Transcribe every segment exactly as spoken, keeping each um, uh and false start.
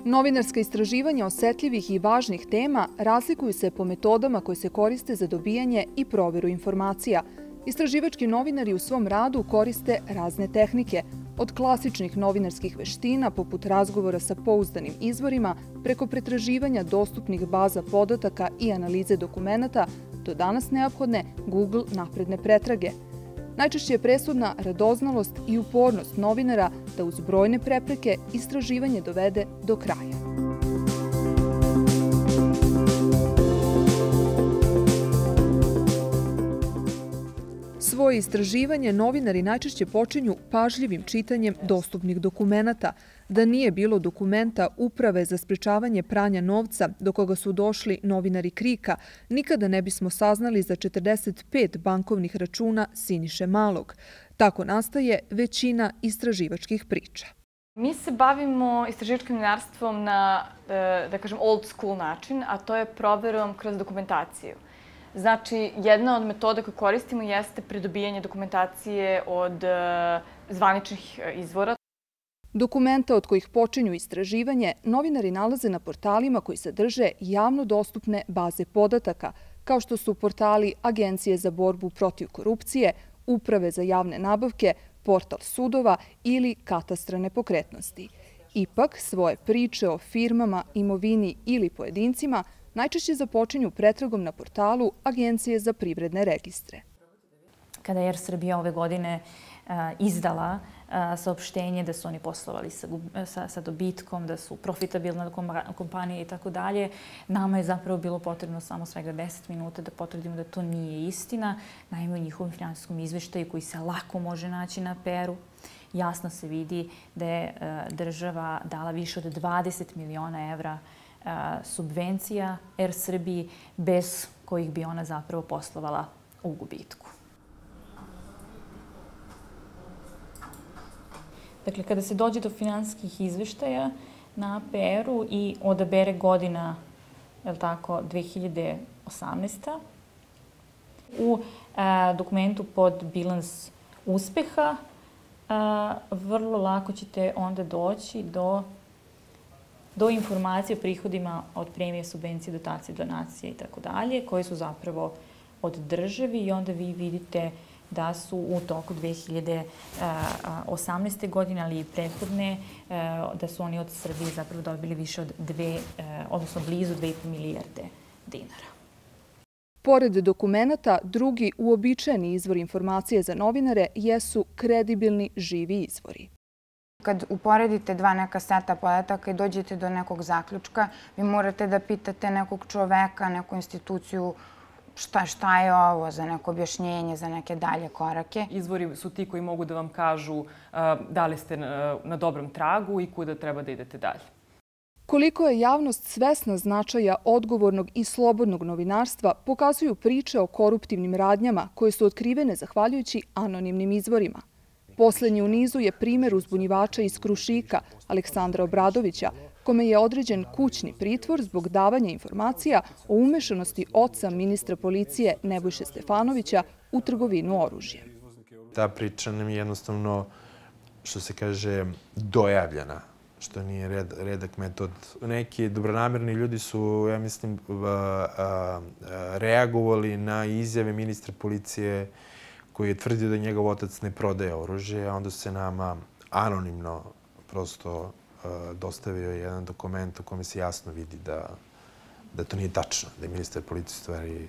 Novinarska istraživanja osetljivih i važnih tema razlikuju se po metodama koje se koriste za dobijanje i proveru informacija. Istraživački novinari u svom radu koriste razne tehnike, od klasičnih novinarskih veština poput razgovora sa pouzdanim izvorima preko pretraživanja dostupnih baza podataka i analize dokumenata do danas neophodne Google napredne pretrage. Najčešće je presudna radoznalost i upornost novinara da uz brojne prepreke istraživanje dovede do kraja. Svoje istraživanje novinari najčešće počinju pažljivim čitanjem dostupnih dokumenata. Da nije bilo dokumenta Uprave za sprečavanje pranja novca do koga su došli novinari Krika, nikada ne bismo saznali za četrdeset pet bankovnih računa Siniše Malog. Tako nastaje većina istraživačkih priča. Mi se bavimo istraživačkim novinarstvom na, da kažem, old school način, a to je proverom kroz dokumentaciju. Znači, jedna od metoda koju koristimo jeste pridobijanje dokumentacije od zvaničnih izvora. Dokumenta od kojih počinju istraživanje novinari nalaze na portalima koji sadrže javno dostupne baze podataka, kao što su portali Agencije za borbu protiv korupcije, Uprave za javne nabavke, portal sudova ili katastra nepokretnosti. Ipak, svoje priče o firmama, imovini ili pojedincima najčešće započinju pretragom na portalu Agencije za privredne registre. Kada je Er Srbija ove godine izdala saopštenje da su oni poslovali sa dobitkom, da su profitabilna kompanija i tako dalje, nama je zapravo bilo potrebno samo svega deset minuta da potvrdimo da to nije istina. Naime, u njihovom finansijskom izveštaju koji se lako može naći na Peru, jasno se vidi da je država dala više od dvadeset miliona evra subvencija Er Srbiji, bez kojih bi ona zapravo poslovala u gubitku. Dakle, kada se dođe do finansijskih izveštaja na A P R-u i odabere godina, je li tako, dve hiljade osamnaesta. U dokumentu pod bilans uspeha vrlo lako ćete onda doći do do informacije o prihodima od premije, subvencije, dotacije, donacije i tako dalje, koje su zapravo od državi i onda vi vidite da su u toku dve hiljade osamnaeste. godine, ali i prethodne, da su oni od Srbije zapravo dobili više od dve, odnosno blizu dve i po milijarde dinara. Pored dokumenata, drugi uobičajeni izvor informacije za novinare jesu kredibilni živi izvori. Kad uporedite dva neka seta podataka i dođete do nekog zaključka, vi morate da pitate nekog čoveka, neku instituciju šta, šta je ovo, za neko objašnjenje, za neke dalje korake. Izvori su ti koji mogu da vam kažu da li ste na dobrom tragu i kuda treba da idete dalje. Koliko je javnost svesna značaja odgovornog i slobodnog novinarstva, pokazuju priče o koruptivnim radnjama koje su otkrivene zahvaljujući anonimnim izvorima. Poslednji u nizu je primer uzbunjivača iz Krušika, Aleksandra Obradovića, kome je određen kućni pritvor zbog davanja informacija o umešanosti oca ministra policije Nebojše Stefanovića u trgovinu oružjem. Ta priča nam je jednostavno, što se kaže, dojavljena, što nije red, redak metod. Neki dobronamerni ljudi su, ja mislim, reagovali na izjave ministra policije koji je tvrdio da njegov otac ne prodaje oružje, a onda se nama anonimno prosto dostavio jedan dokument u kome se jasno vidi da, da to nije tačno, da je ministar policije stvari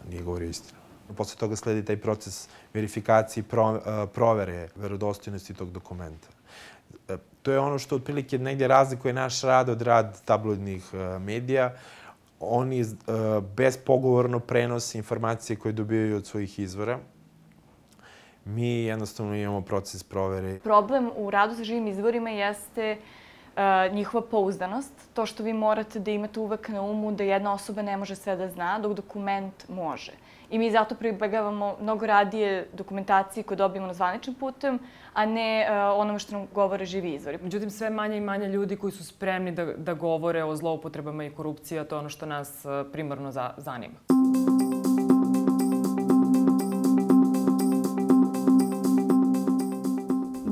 nije govorio istinu. Posle toga sledi taj proces verifikacije i provere verodostojnosti tog dokumenta. To je ono što otprilike negdje razlikuje naš rad od rad tabloidnih medija. Oni bespogovorno prenose informacije koje dobijaju od svojih izvora. Mi jednostavno imamo proces provere. Problem u radu sa živim izvorima jeste njihova pouzdanost. To što vi morate da imate uvek na umu da jedna osoba ne može sve da zna, dok dokument može. I mi zato pribegavamo mnogo radije dokumentaciji koju dobijemo na zvaničnim putem, a ne onome što nam govore živi izvori. Međutim, sve manje i manje ljudi koji su spremni da, da govore o zloupotrebama i korupciji, a to je ono što nas primarno za, zanima.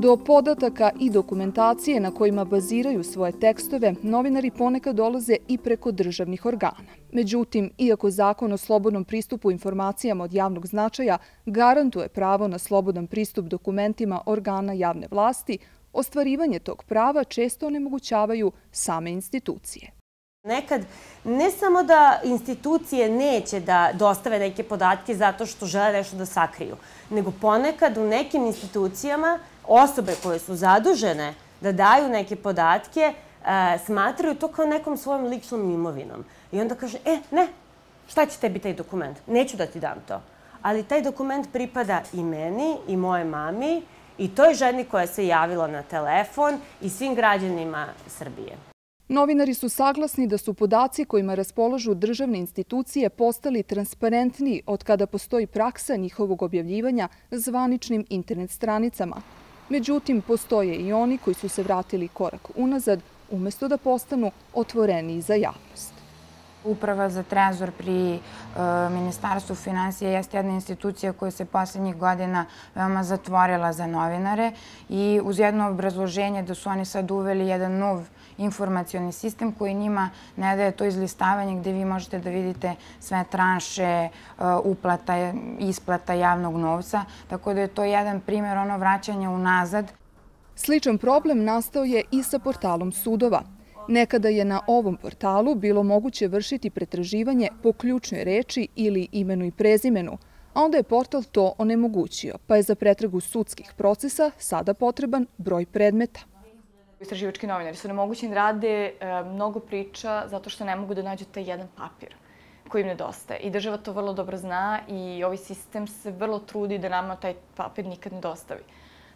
Do podataka i dokumentacije na kojima baziraju svoje tekstove, novinari ponekad dolaze i preko državnih organa. Međutim, iako Zakon o slobodnom pristupu informacijama od javnog značaja garantuje pravo na slobodan pristup dokumentima organa javne vlasti, ostvarivanje tog prava često onemogućavaju same institucije. Nekad ne samo da institucije neće da dostave neke podatke zato što žele nešto da sakriju, nego ponekad u nekim institucijama osobe koje su zadužene da daju neke podatke smatraju to kao nekom svojom ličnom imovinom. I onda kaže, e, ne, šta će tebi taj dokument? Neću da ti dam to. Ali taj dokument pripada i meni, i moje mami, i toj ženi koja se javila na telefon i svim građanima Srbije. Novinari su saglasni da su podaci kojima raspolažu državne institucije postali transparentniji od kada postoji praksa njihovog objavljivanja zvaničnim internet stranicama. Međutim, postoje i oni koji su se vratili korak unazad, umjesto da postanu otvoreniji za javnost. Uprava za trezor pri Ministarstvu finansija jeste jedna institucija koja se poslednjih godina veoma zatvorila za novinare i uz jedno obrazloženje da su oni sad uveli jedan nov informacioni sistem koji njima ne daje to izlistavanje gde vi možete da vidite sve tranše, uplata, isplata javnog novca. Tako da je to jedan primjer ono vraćanja unazad. Sličan problem nastao je i sa portalom sudova. Nekada je na ovom portalu bilo moguće vršiti pretraživanje po ključnoj reči ili imenu i prezimenu, a onda je portal to onemogućio, pa je za pretragu sudskih procesa sada potreban broj predmeta. Istraživački novinari su nemogućni da rade mnogo priča zato što ne mogu da nađu taj jedan papir koji im nedostaje. I država to vrlo dobro zna i ovaj sistem se vrlo trudi da nama taj papir nikad ne dostavi.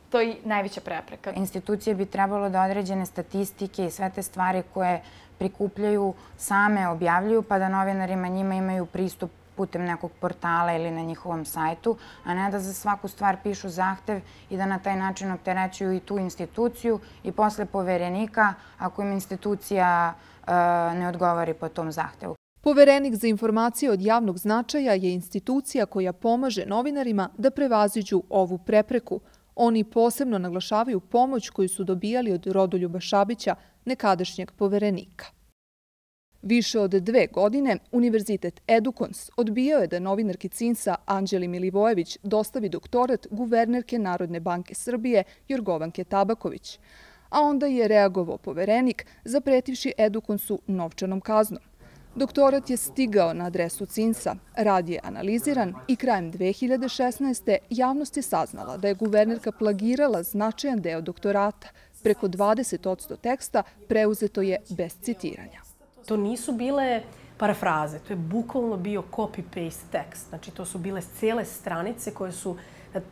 To je najveća prepreka. Institucije bi trebalo da određene statistike i sve te stvari koje prikupljaju same objavljuju, pa da novinarima njima imaju pristup putem nekog portala ili na njihovom sajtu, a ne da za svaku stvar pišu zahtev i da na taj način opterećuju i tu instituciju i posle poverenika ako im institucija ne odgovori po tom zahtevu. Poverenik za informacije od javnog značaja je institucija koja pomaže novinarima da prevaziđu ovu prepreku. Oni posebno naglašavaju pomoć koju su dobijali od Rodoljuba Šabića, nekadašnjeg poverenika. Više od dve godine Univerzitet Edukons odbijao je da novinarki C I N S-a Anđeli Milivojević dostavi doktorat guvernerke Narodne banke Srbije Jorgovanke Tabaković, a onda je reagovao poverenik zapretivši Edukonsu novčanom kaznom. Doktorat je stigao na adresu C I N S-a, rad je analiziran i krajem dve hiljade šesnaeste. javnost je saznala da je guvernerka plagirala značajan deo doktorata. Preko dvadeset posto teksta preuzeto je bez citiranja. To nisu bile parafraze, to je bukvalno bio copy-paste tekst. Znači, to su bile cijele stranice koje su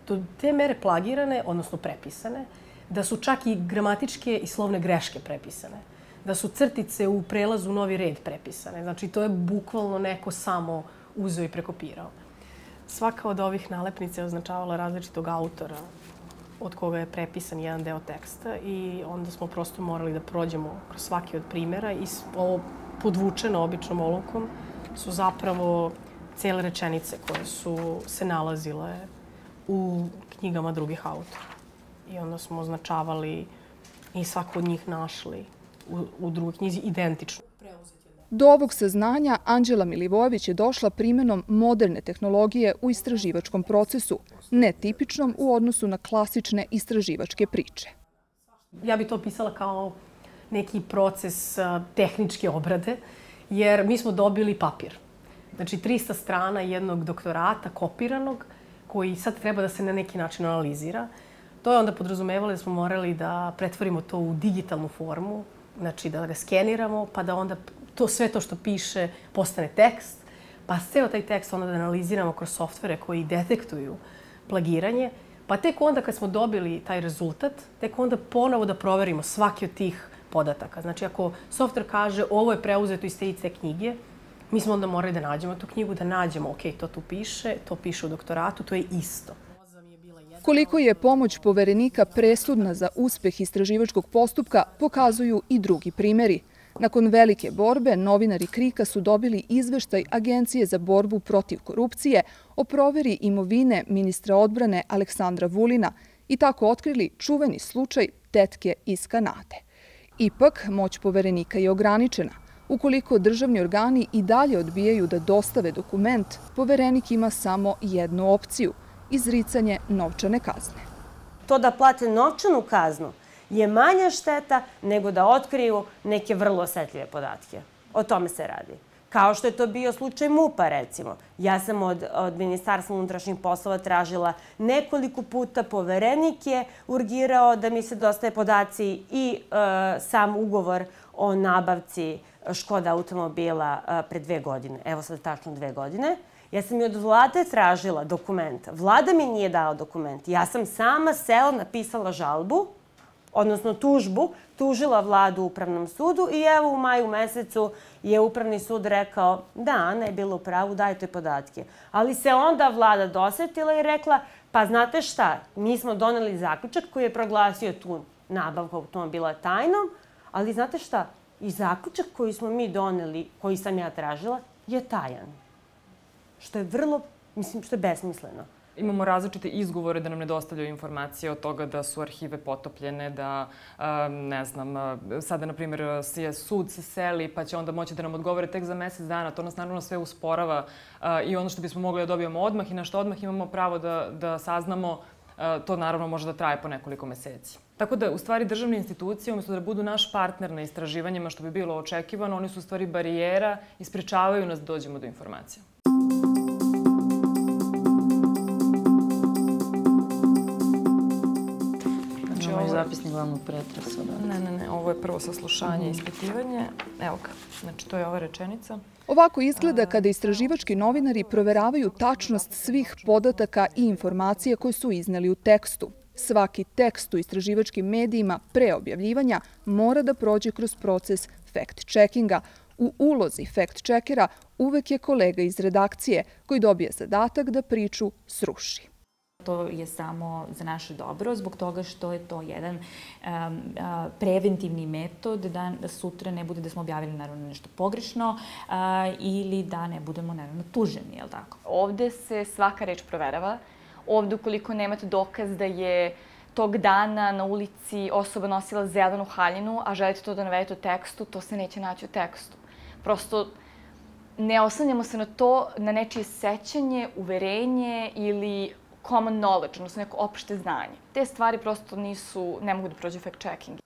do te mere plagirane, odnosno prepisane, da su čak i gramatičke i slovne greške prepisane. Da su crtice u prelazu u novi red prepisane. Znači, to je bukvalno neko samo uzeo i prekopirao. Svaka od ovih nalepnica je označavala različitog autora od koga je prepisan jedan deo teksta i onda smo prosto morali da prođemo kroz svaki od primjera i ovo podvučeno običnom olovkom su zapravo cijele rečenice koje su se nalazile u knjigama drugih autora. I onda smo označavali i svako od njih našli u, u drugoj knjizi identično. Do ovog saznanja Anđela Milivojević je došla primjenom moderne tehnologije u istraživačkom procesu, netipičnom u odnosu na klasične istraživačke priče. Ja bih to opisala kao neki proces tehničke obrade, jer mi smo dobili papir. Znači, trista strana jednog doktorata kopiranog, koji sad treba da se na neki način analizira. To je onda podrazumevalo da smo morali da pretvorimo to u digitalnu formu, znači da ga skeniramo, pa da onda to sve to što piše postane tekst, pa ceo taj tekst onda da analiziramo kroz softvere koji detektuju plagiranje, pa tek onda kad smo dobili taj rezultat, tek onda ponovo da proverimo svaki od tih podataka. Znači, ako softver kaže ovo je preuzeto iz te i te knjige, mi smo onda morali da nađemo tu knjigu, da nađemo, ok, to tu piše, to piše u doktoratu, to je isto. Koliko je pomoć poverenika presudna za uspeh istraživačkog postupka, pokazuju i drugi primjeri. Nakon velike borbe, novinari Krika su dobili izveštaj Agencije za borbu protiv korupcije o proveri imovine ministra odbrane Aleksandra Vulina i tako otkrili čuveni slučaj tetke iz Kanade. Ipak, moć poverenika je ograničena. Ukoliko državni organi i dalje odbijaju da dostave dokument, poverenik ima samo jednu opciju – izricanje novčane kazne. To da plate novčanu kaznu je manja šteta nego da otkriju neke vrlo osetljive podatke. O tome se radi. Kao što je to bio slučaj MUP-a, recimo. Ja sam od, od Ministarstva unutrašnjih poslova tražila nekoliko puta, poverenik je urgirao da mi se dostave podaci i e, sam ugovor o nabavci Škoda automobila e, pre dve godine. Evo sad tačno dve godine. Ja sam i od vlade tražila dokument. Vlada mi nije dala dokument. Ja sam sama sela napisala žalbu, odnosno tužbu, tužila vladu u Upravnom sudu i evo u maju mesecu je Upravni sud rekao da, Ana je bila u pravu, dajte podatke. Ali se onda vlada dosetila i rekla, pa znate šta, mi smo doneli zaključak koji je proglasio tu nabavku automobila tajnom, ali znate šta, i zaključak koji smo mi doneli, koji sam ja tražila, je tajan. Što je vrlo, mislim, što je besmisleno. Imamo različite izgovore da nam ne dostavljaju informacije od toga da su arhive potopljene, da, ne znam, sada, na primjer, je sud se seli pa će onda moći da nam odgovore tek za mesec dana. To nas naravno sve usporava i ono što bismo mogli da dobijemo odmah i na što odmah imamo pravo da, da saznamo, to naravno može da traje po nekoliko meseci. Tako da, u stvari, državne institucije, umjesto da budu naš partner na istraživanjima, što bi bilo očekivano, oni su u stvari barijera i sprečavaju nas da dođemo do informacija. Imamo i zapisnik glavnog pretresa. Ne, ne, ne. Ovo je prvo saslušanje i ispitivanje. Evo ga. Znači, to je ova rečenica. Ovako izgleda kada istraživački novinari proveravaju tačnost svih podataka i informacija koje su izneli u tekstu. Svaki tekst u istraživačkim medijima pre objavljivanja mora da prođe kroz proces fact-checkinga. U ulozi fact-checkera uvek je kolega iz redakcije koji dobije zadatak da priču sruši. To je samo za naše dobro, zbog toga što je to jedan um, preventivni metod da sutra ne bude da smo objavili naravno nešto pogrešno uh, ili da ne budemo naravno tuženi, je li tako? Ovde se svaka reč proverava. Ovde ukoliko nemate dokaz da je tog dana na ulici osoba nosila zelenu haljinu, a želite to da navedete u tekstu, to se neće naći u tekstu. Prosto ne oslanjamo se na to, na nečije sećanje, uverenje ili common knowledge, odnosno neko opšte znanje. Te stvari prosto nisu, ne mogu da prođe fact-checking.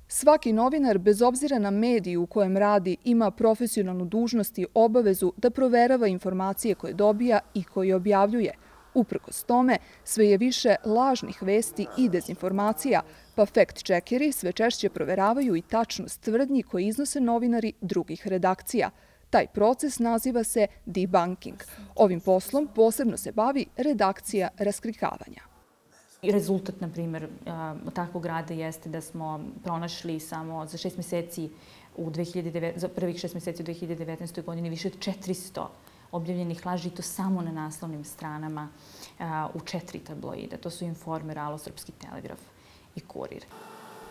Svaki novinar, bez obzira na mediju u kojem radi, ima profesionalnu dužnost i obavezu da proverava informacije koje dobija i koje objavljuje. Uprkos tome, sve je više lažnih vesti i dezinformacija, pa fact-checkeri sve češće proveravaju i tačnost tvrdnji koje iznose novinari drugih redakcija. Taj proces naziva se debunking. Ovim poslom posebno se bavi redakcija raskrikavanja. Rezultat, na primjer, takvog rada jeste da smo pronašli samo za šest meseci u za prvih šest meseci u dve hiljade devetnaestoj godini više od četiristo objavljenih laži, i to samo na naslovnim stranama u četiri tabloida. To su Informer, Alo, Srpski telegraf i Kurir.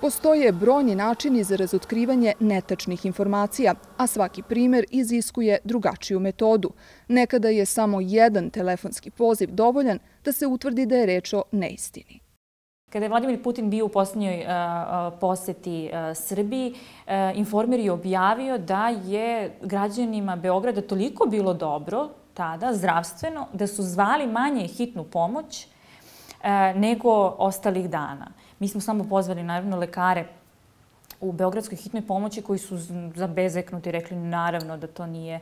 Postoje brojni načini za razotkrivanje netačnih informacija, a svaki primer iziskuje drugačiju metodu. Nekada je samo jedan telefonski poziv dovoljan da se utvrdi da je reč o neistini. Kada je Vladimir Putin bio u posljednjoj poseti Srbiji, Informer je objavio da je građanima Beograda toliko bilo dobro tada, zdravstveno, da su zvali manje hitnu pomoć nego ostalih dana. Mi smo samo pozvali, naravno, lekare u Beogradskoj hitnoj pomoći koji su zabezeknuti i rekli naravno da to nije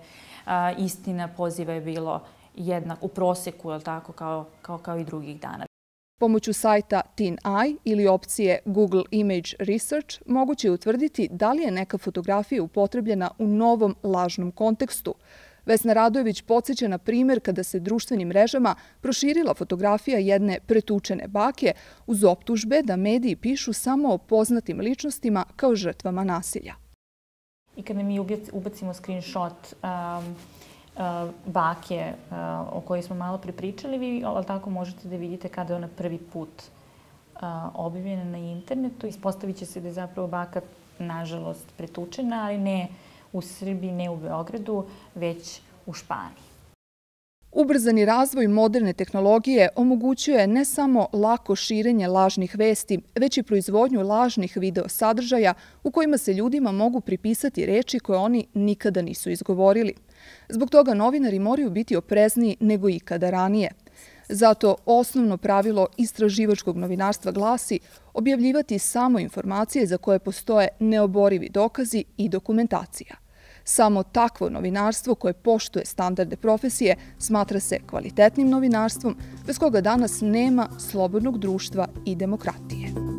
istina. Poziva je bilo jednak u proseku, tako, kao, kao, kao i drugih dana. Pomoću sajta TinEye ili opcije Google Image Research moguće je utvrditi da li je neka fotografija upotrebljena u novom lažnom kontekstu. Vesna Radojević podsjeća na primjer kada se društvenim mrežama proširila fotografija jedne pretučene bake uz optužbe da mediji pišu samo o poznatim ličnostima kao žrtvama nasilja. I kada mi ubacimo screenshot um, uh, bake uh, o kojoj smo malo prepričali, vi tako možete da vidite kada je ona prvi put uh, objavljena na internetu. Ispostavit će se da je zapravo baka, nažalost, pretučena, ali ne u Srbiji, ne u Beogradu, već u Španiji. Ubrzani razvoj moderne tehnologije omogućuje ne samo lako širenje lažnih vesti, već i proizvodnju lažnih video sadržaja u kojima se ljudima mogu pripisati reči koje oni nikada nisu izgovorili. Zbog toga novinari moraju biti oprezniji nego ikada ranije. Zato osnovno pravilo istraživačkog novinarstva glasi objavljivati samo informacije za koje postoje neoborivi dokazi i dokumentacija. Samo takvo novinarstvo koje poštuje standarde profesije smatra se kvalitetnim novinarstvom, bez koga danas nema slobodnog društva i demokratije.